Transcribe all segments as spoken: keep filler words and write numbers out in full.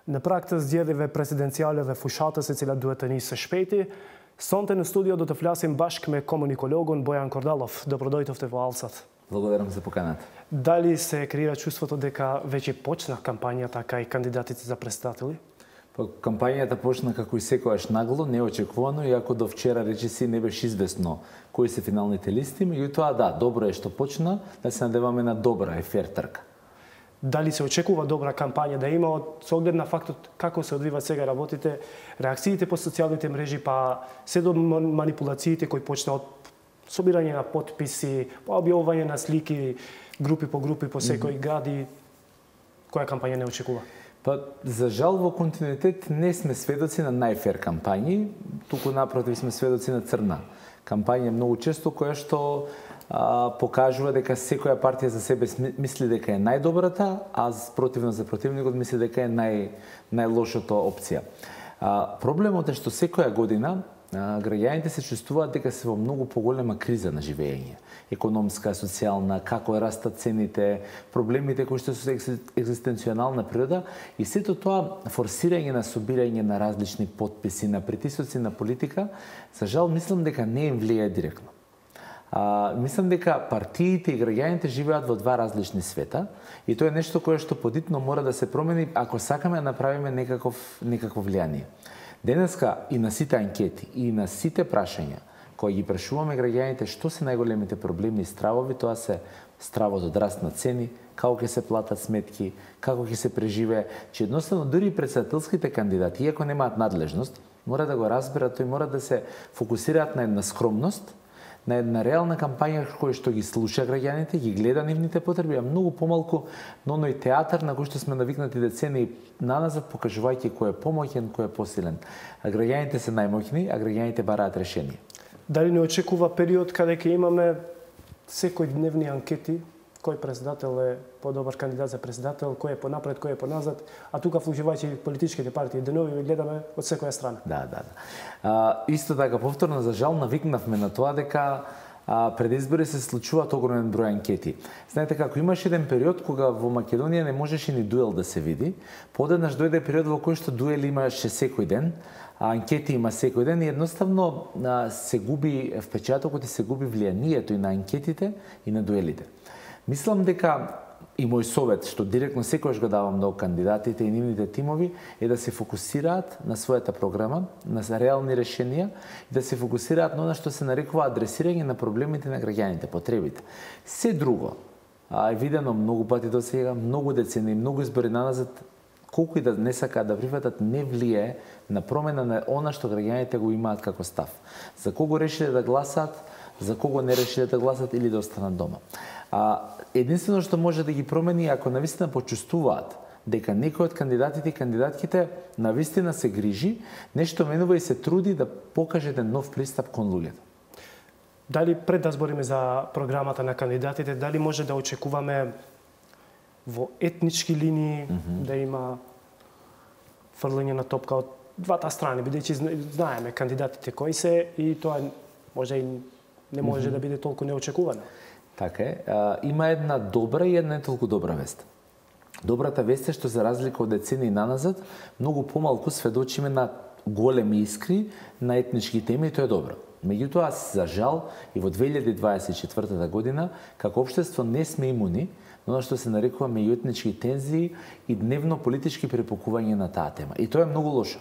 Në praktë zgjedhjeve presidenciale dhe fushatës e cilat duhet të nisë së shpejti, sonte në studio do të flasim bashkë me komunikologun Bojan Kordalov. Dobrodoјтовте во Алсат. Благодарам за поканата. Дали се креира чувството дека веќе почна кампањата кај кандидатите за председатели? Па, кампањата почна како и секојаш нагло, неочекувано, иако до вчера речиси не беше известно кои се финалните листи, меѓутоа да, добро е што почна, да се надеваме на добра и фер трка. Дали се очекува добра кампања да има од со оглед на фактот како се одвиваат сега работите, реакциите по социјалните мрежи, па се до манипулациите кои почна од собирање на потписи, па објавување на слики, групи по групи по секој град и која кампања не очекува? Па, за жал во континуитет не сме сведоци на најфер кампањи, туку напротив сме сведоци на црна кампања многу често која што а, покажува дека секоја партија за себе мисли дека е најдобрата, а противно за противникот мисли дека е нај најлошото опција. А, проблемот е што секоја година а, граѓаните се чувствуваат дека се во многу поголема криза на живење. Економска, социјална, како растат цените, проблемите кои што се екзистенционална природа и сето тоа форсирање на собирање на различни потписи, на притисоци на политика, за жал мислам дека не им влијае директно. А, мислам дека партиите и граѓаните живеат во два различни света и тоа е нешто кое што подитно мора да се промени ако сакаме да направиме некаков некакво влијание. Денеска и на сите анкети и на сите прашања кои ги прашуваме граѓаните што се најголемите проблеми и стравови, тоа се стравот од раст на цени, како ќе се платат сметки, како ќе се преживее, че едноставно дури и председателските кандидати, иако немаат надлежност, мора да го разберат, тој мора да се фокусираат на една скромност, на една реална кампања која што ги слуша граѓаните, ги гледа нивните потреби, а многу помалку на оној театар на кој што сме навикнати децени наназад, покажувајќи кој е помоќен, кој е посилен. А граѓаните се најмоќни, а граѓаните бараат решение. Дали не очекува период каде ќе имаме секојдневни анкети, кој председател е подобар кандидат за председател, кој е понапред, кој е поназад, а тука вклучувајќи политичките партии, денови гледаме од секоја страна. Да, да, да. А, исто така, повторно, за жал, навикнавме на тоа дека а, пред избори се случуваат огромен број анкети. Знаете како, имаше еден период кога во Македонија не можеше ни дуел да се види, подеднаш дојде период во кој што дуели имаше секој ден, а анкети има секој ден и едноставно а, се губи впечатокот и се губи влијанието и на анкетите и на дуелите. Мислам дека и мој совет, што директно секојаш го давам до кандидатите и нивните тимови, е да се фокусираат на својата програма, на реални решенија и да се фокусираат на она што се нарекува адресирање на проблемите на граѓаните, потребите. Се друго, а, е видено многу пати до сега, многу децени, многу избори наназад, колку и да не сакаат да прифатат, не влијае на промена на она што граѓаните го имаат како став. За кого решиле да гласаат, за кого не решиле да гласат или да останат дома. А, единствено што може да ги промени ако навистина почувствуваат дека некој од кандидатите и кандидатките навистина се грижи, нешто менува и се труди да покаже еден нов пристап кон луѓето. Дали пред да збориме за програмата на кандидатите, дали може да очекуваме во етнички линии mm -hmm. да има фрлање на топка од двата страни, бидејќи знаеме кандидатите кои се и тоа може и не може mm -hmm. да биде толку неочекувано. Така е. А, има една добра и една не толку добра вест. Добрата вест е што за разлика од децени наназад, многу помалку сведочиме на големи искри на етнички теми и тоа е добро. Меѓутоа, за жал, и во две илјади дваесет и четвртата година, како општество не сме имуни на она што се нарекува меѓуетнички тензии и дневно политички препокување на таа тема. И тоа е многу лошо.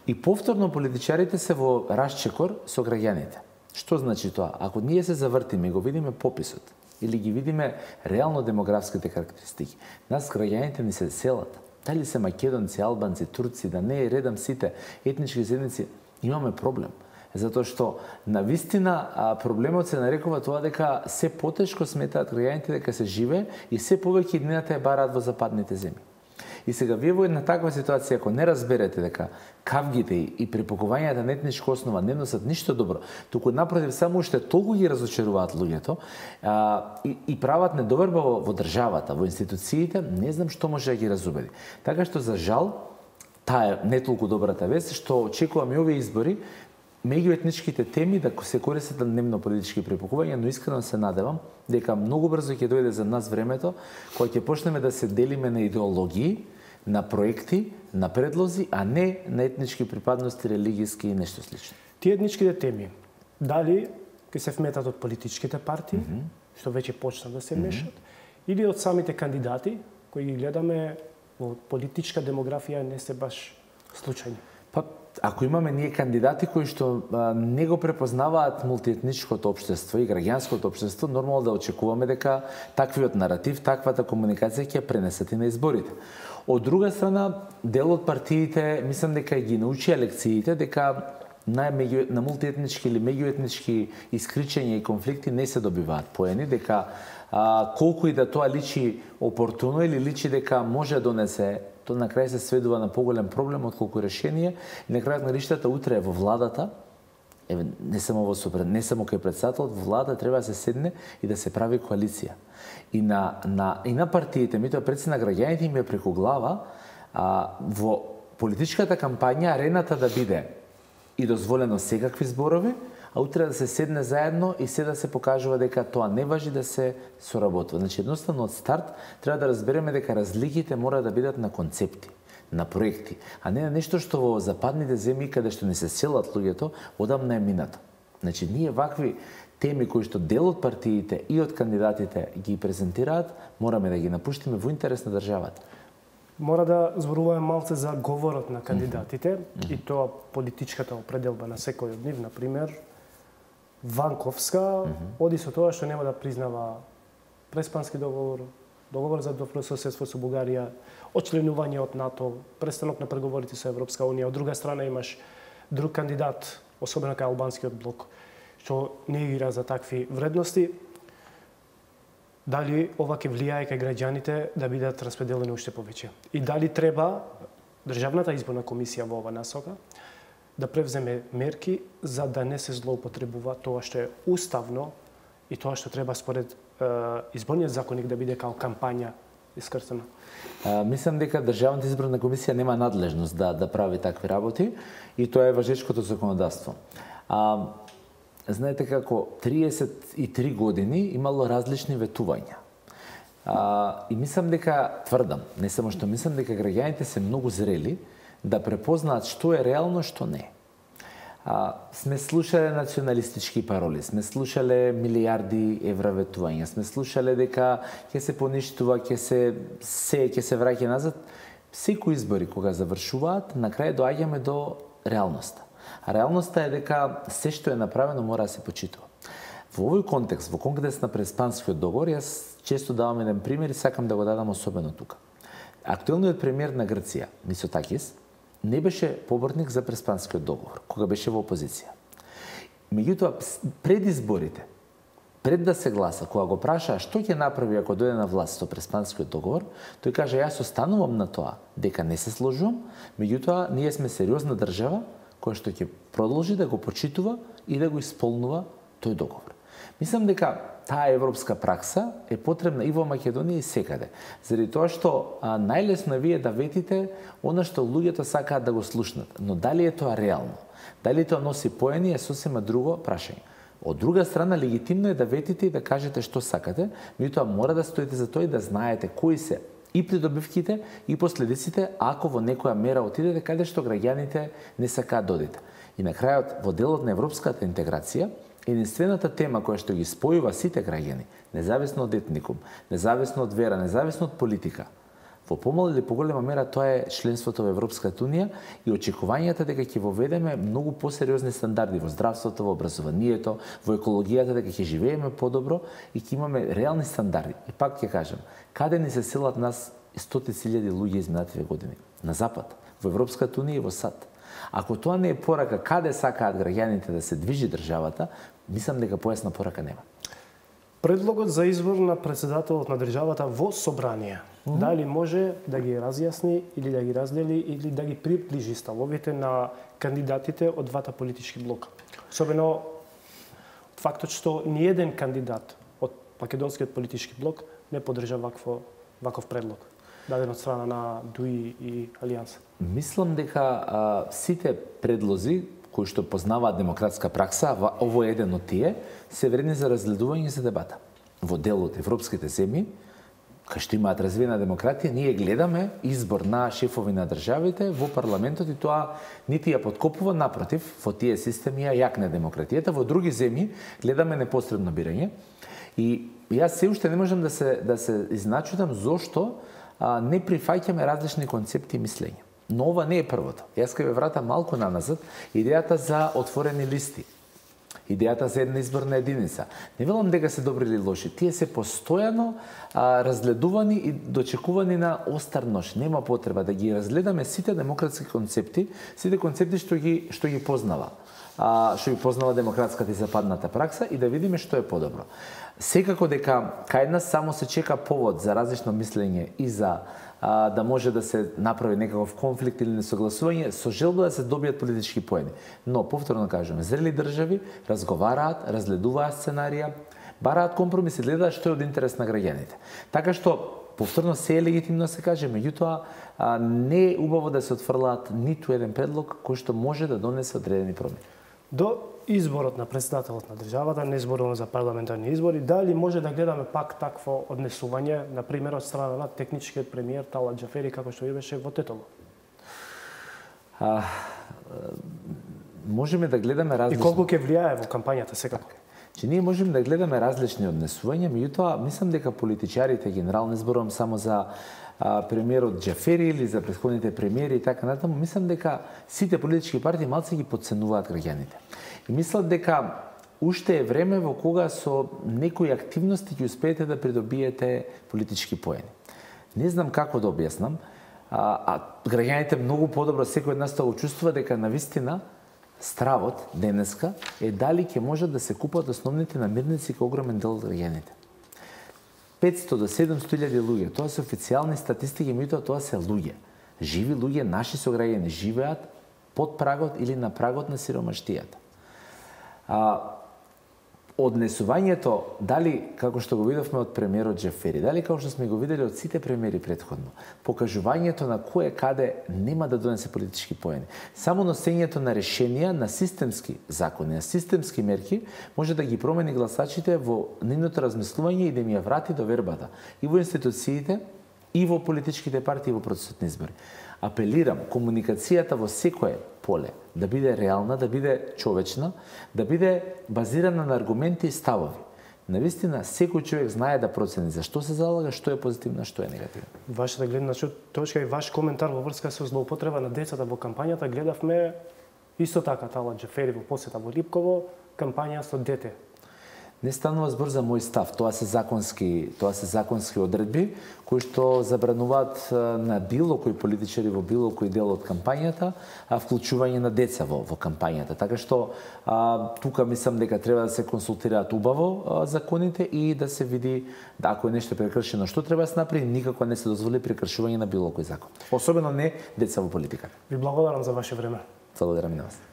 И повторно политичарите се во расчекор со граѓаните. Што значи тоа? Ако ние се завртиме и го видиме пописот, или ги видиме реално демографските карактеристики, нас граѓаните ни се селат. Дали се македонци, албанци, турци, да не е редам сите етнички заедници, имаме проблем. Затоа што навистина проблемот се нарекува тоа дека се потешко сметаат граѓаните дека се живее и се повеќе иднината ја бараат во западните земји. И сега вие во една таква ситуација, ако не разберете дека кавгите и препокувањата на етничка основа не носат ништо добро, туку напротив само уште толку ги разочаруваат луѓето а, и, и прават недоверба во, во државата, во институциите, не знам што може да ги разубеди. Така што за жал, таа е не толку добрата вест, што очекуваме овие избори, меѓуетничките теми да се користат на дневно политички препокувања, но искрено се надевам дека многу брзо ќе дојде за нас времето кога ќе почнеме да се делиме на идеологии, на проекти, на предлози, а не на етнички припадности, религиски и нешто слично. Тие етничките теми, дали ќе се вметат од политичките партии, mm -hmm. што веќе почна да се мешат, mm -hmm. или од самите кандидати, кои ги гледаме во политичка демографија не се баш случајни. Па, ако имаме ние кандидати кои што а, не го препознаваат мултиетничкото општество и граѓанското општество, нормално да очекуваме дека таквиот наратив, таквата комуникација ќе пренесат и на изборите. Од друга страна, дел од партиите, мислам дека ги научија лекциите, дека на, меѓу, на мултиетнички или меѓуетнички искричења и конфликти не се добиваат поени, дека а, колку и да тоа личи опортуно или личи дека може да донесе, тоа на крај се сведува на поголем проблем отколку решение и на крајот на ништата утре во владата, еве не само во супред, не само кај претседателот, во владата треба да се седне и да се прави коалиција. И на на и на партиите, меѓутоа пред на граѓаните им е преку глава а, во политичката кампања арената да биде и дозволено секакви зборови, а утре да се седне заедно и се да се покажува дека тоа не важи да се соработува. Значи, едноставно од старт треба да разбереме дека разликите мора да бидат на концепти, на проекти, а не на нешто што во западните земји каде што не се селат луѓето, одамна е минато. Значи, ние вакви теми кои што дел од партиите и од кандидатите ги презентираат, мораме да ги напуштиме во интерес на државата. Мора да зборуваме малце за говорот на кандидатите mm -hmm. и тоа политичката определба на секој од нив, например, Ванковска mm -hmm. оди со тоа што нема да признава Преспански договор, договор за добрососедство со Бугарија, очленување од НАТО, престанок на преговорите со Европска унија. Од друга страна имаш друг кандидат, особено кај албанскиот блок, што не игра за такви вредности. Дали ова ќе влијае кај граѓаните да бидат распределени уште повеќе? И дали треба Државната изборна комисија во ова насока да превземе мерки за да не се злоупотребува тоа што е уставно и тоа што треба според е, изборниот законник да биде као кампања искрстено? А, мислам дека Државната изборна комисија нема надлежност да да прави такви работи и тоа е важечкото законодавство. А, знаете како триесет и три години имало различни ветувања. А, и мислам дека, тврдам, не само што мислам дека граѓаните се многу зрели да препознаат што е реално, што не. А, сме слушале националистички пароли, сме слушале милиарди евра ветувања, сме слушале дека ќе се поништува, ќе се се ќе се враќа назад. Секои избори кога завршуваат, на крај доаѓаме до реалноста. А реалноста е дека се што е направено мора да се почитува. Во овој контекст, во контекст на Преспанскиот договор, јас често давам еден пример и сакам да го дадам особено тука. Актуелниот премиер на Грција, Мицотакис, не беше поборник за Преспанскиот договор, кога беше во опозиција. Меѓутоа, пред изборите, пред да се гласа, кога го прашаа што ќе направи ако дојде на власт со Преспанскиот договор, тој кажа јас останувам на тоа дека не се сложувам, меѓутоа ние сме сериозна држава која што ќе продолжи да го почитува и да го исполнува тој договор. Мислам дека таа европска пракса е потребна и во Македонија и секаде. Заради тоа што а, најлесно е вие да ветите она што луѓето сакаат да го слушнат. Но дали е тоа реално? Дали тоа носи поени е сосема друго прашање. Од друга страна, легитимно е да ветите и да кажете што сакате, меѓутоа мора да стоите за тоа и да знаете кои се и придобивките и последиците ако во некоја мера отидете каде што граѓаните не сакаат да одите. И на крајот, во делот на европската интеграција, единствената тема која што ги спојува сите граѓани, независно од етникум, независно од вера, независно од политика, во помала или поголема мера тоа е членството во Европската унија и очекувањата дека ќе воведеме многу посериозни стандарди во здравството, во образованието, во екологијата, дека ќе живееме подобро и ќе имаме реални стандарди. И пак ќе кажам, каде ни се селат нас стотици илјади луѓе изминативе години? На запад, во Европската унија и во САД. Ако тоа не е порака каде сакаат граѓаните да се движи државата, мислам дека појасна порака нема. Предлогот за избор на претседателот на државата во собрание, mm -hmm. дали може да ги разјасни или да ги раздели или да ги приближи ставовите на кандидатите од двата политички блока? Особено фактот што ниеден кандидат од македонскиот политички блок не поддржа вакво, ваков предлог, даден од страна на ДУИ и Алијанса. Мислам дека а, сите предлози кои што познаваат демократска пракса, ово е еден од тие, се вредни за разгледување и за дебата. Во дел од европските земји, кај што имаат развиена демократија, ние гледаме избор на шефови на државите во парламентот и тоа нити ја подкопува, напротив, во тие системи ја јакне демократијата. Во други земји гледаме непосредно бирање и јас се уште не можам да се да се изначудам зошто а, не прифаќаме различни концепти и мислења. Но ова не е првото. Јас ќе ве вратам малку наназад, идејата за отворени листи. Идејата за една изборна единица. Не велам дека се добри или лоши. Тие се постојано а, разгледувани и дочекувани на остар нож. Нема потреба да ги разгледаме сите демократски концепти, сите концепти што ги што ги познава. А, што ги познава демократската и западната пракса и да видиме што е подобро. Секако дека кај нас само се чека повод за различно мислење и за а, да може да се направи некаков конфликт или несогласување со желба да се добијат политички поени. Но, повторно кажуваме, зрели држави разговараат, разгледуваат сценарија, бараат компромиси, гледаат што е од интерес на граѓаните. Така што, повторно се е легитимно се каже, меѓутоа а, не е убаво да се отфрлаат ниту еден предлог кој што може да донесе одредени промени. До изборот на претседателот на државата, не зборувам за парламентарни избори, дали може да гледаме пак такво однесување, на пример од страна на техничкиот премиер Талат Џафери, како што беше во Тетово? А, можеме да гледаме различни... И колку ќе влијае во кампањата секако? Че ние можеме да гледаме различни однесувања, меѓутоа мислам дека политичарите генерално, не зборувам само за а, премиерот Џафери или за претходните премиери и така натаму, мислам дека сите политички партии малце ги потценуваат граѓаните. И мислат дека уште е време во кога со некои активности ќе успеете да придобиете политички поени. Не знам како да објаснам, а, а граѓаните многу подобро секој од нас тоа го чувствува дека навистина стравот денеска е дали ќе можат да се купат основните намирници кај огромен дел од граѓаните. петстотини до седумстотини илјади луѓе, тоа се официјални статистики, меѓутоа тоа се луѓе. Живи луѓе, наши сограѓани живеат под прагот или на прагот на сиромаштијата. А, однесувањето, дали, како што го видовме од премиерот Џафери, дали како што сме го видели од сите премиери претходно, покажувањето на кој каде нема да донесе политички поени. Само носењето на решенија, на системски закони, на системски мерки, може да ги промени гласачите во нивното размислување и да им ја врати довербата и во институциите, и во политичките партии во процесот на избори. Апелирам, комуникацијата во секое поле да биде реална, да биде човечна, да биде базирана на аргументи и ставови. Навистина, секој човек знае да процени за што се залага, што е позитивно, што е негативно. Вашата гледна точка и ваш коментар во врска со злоупотреба на децата во кампањата, гледавме исто така Талат Џафери во посета во Липково, кампања со дете. Не станува збор за мој став, тоа се законски, тоа се законски одредби кои што забрануваат на било кој политичари во било кој дел од кампањата, а вклучување на деца во во кампањата. Така што а, тука мислам дека треба да се консултираат убаво а, законите и да се види да ако е нешто прекршено што треба да се направи, никако не се дозволи прекршување на било кој закон. Особено не деца во политиката. Ви благодарам за ваше време. Благодарам и на вас.